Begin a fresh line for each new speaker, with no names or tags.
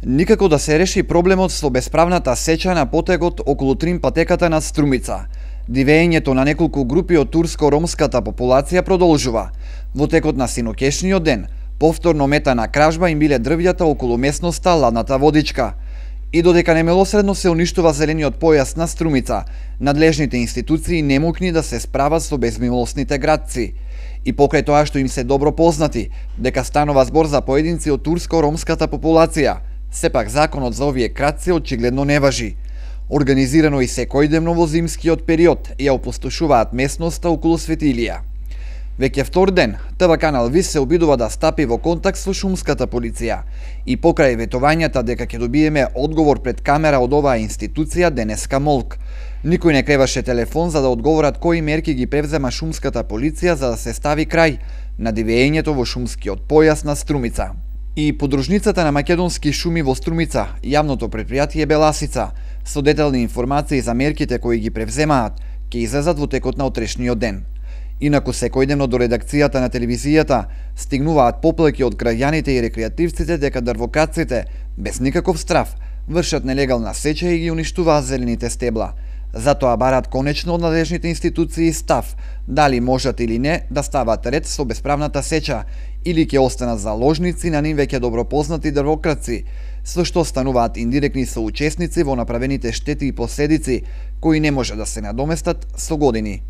Никако да се реши проблемот со бесправната сеча на потегот околу Трим-патеката над Струмица. Дивеењето на неколку групи од турско-ромската популација продолжува. Во текот на синокешниот ден, повторно мета на кражба им биле дрвјата околу местноста Ладната водичка. И додека немилосредно се уништува зелениот појас на Струмица, надлежните институции немокни да се справат со безмилосните градци. И покрај тоа што им се добро познати, дека станува збор за поединци од турско-ромската популација, сепак законот за овие кратци очигледно не важи. Организирано и секојдневно во зимскиот период ја опустошуваат местноста околу Свети Илија. Веќе втор ден, ТВ канал ВИС се обидува да стапи во контакт со шумската полиција и покрај ветувањата дека ќе добиеме одговор пред камера од оваа институција денеска молк. Никој не креваше телефон за да одговорат кои мерки ги превзема шумската полиција за да се стави крај на дивеењето во шумскиот појас на Струмица. И подружницата на Македонски шуми во Струмица, јавното предпријатие Беласица, со детални информации за мерките кои ги превземаат, ќе излезат во текот на утрешниот ден. Инаку секојдневно до редакцијата на телевизијата стигнуваат поплаки од граѓаните и рекреативците дека дрвокрадците, без никаков страф, вршат нелегална сеча и ги уништуваат зелените стебла. Затоа барат конечно од надлежните институции став, дали можат или не да стават ред со бесправната сеча, или ќе останат заложници на нив веќе добро познати дрвократци, со што стануваат индиректни соучесници во направените штети и последици, кои не може да се надоместат со години.